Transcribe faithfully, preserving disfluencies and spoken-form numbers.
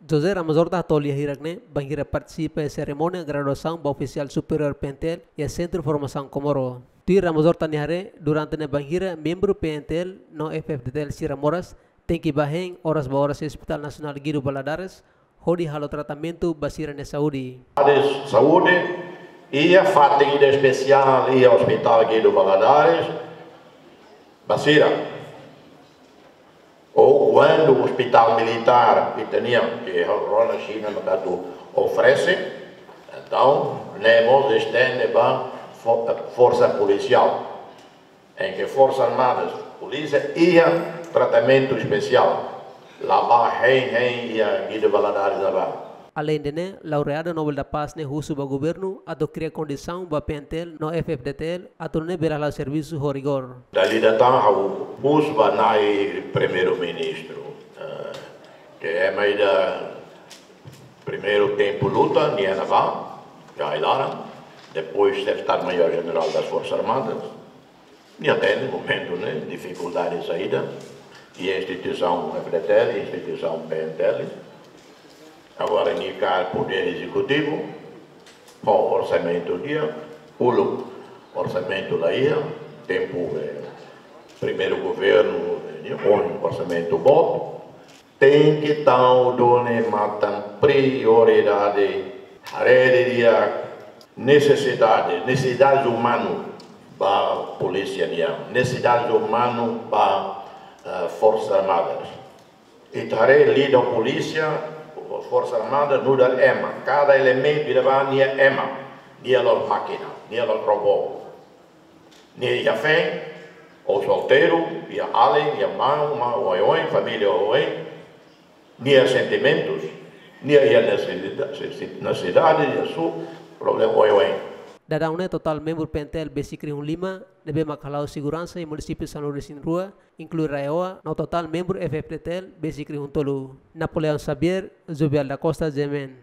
José Ramos Horta hato'o lia hirak ne'e bainhira partisipa iha serimónia graduasaun ba ofisiál superiór PNTL iha Sentru Formasaun Comoro. Tuir Ramos Horta nia haree, durante ne'e bainhira membru PNTL no F-FDTL sira moras tenke bá hein oras ba oras iha Hospital Nasionál Guido Valadares hodi halo tratamentu ba sira-nia saúde. Área saúde, iha fatin ida espesiál iha Hospital Guido Valadares ba sira. Ou kuandu hospital militár ita-nian, ke rona Xina mak atu oferese, entaun ne'e mós estende ba fo-, forsa polisiál. Em que Forsa Armadas, polísia iha tratamentu espesiál. La bá hein hein iha Guido Valadares la bá. Aleinde ne'e, laureada Nobel da Paz ne'e husu ba governu atu kria kondisaun ba PNTL no F-FDTL atu nune'e bele hala'o servisu ho rigór. Dala ida tan ha'u husu ba Na'i Primeiru-Ministru, eh, ke ema ida primeiru tempu luta, nia ne'ebá, iha ai-laran, depois Estadu-Maiór Jenerál das Forças Armadas, nia hatene momentu ne'e, difikuldade saida, iha instituisaun F-FDTL, instituisaun PNTL. Agora nia kaer podér ezekutivu, ho orsamentu di'ak, uluk orsamentu la iha, tempu, eh, primeiru governu, eh, nia ohin orsamentu boot, tenke tau duni matan prioridade, haree didi'ak nesesidade, nesesidade umanu ba polísia nian, nesesidade umanu ba, eh, Forsa Armadas. Ita haree liuliu polísia, Forsa Armada, nu'udar ema. Kada elementu ida bá nia ema, nia la'ós mákina, nia la'ós robó. Nia iha feen, ou solteiru, iha alin, iha maun, maun oioin, família oioin, nia sentimentus, nia iha nesesidade, nesesidade, iha su problema oioin. Daudaun ne'e totál membru PNTL besik rihun lima ne'ebé mak hala'o seguransa iha munisípiu sanulu resin rua, inklui RAEOA, no totál membru F-FDTL besik rihun tolu. Napoleão Xavier, Zubial da Costa, G M N.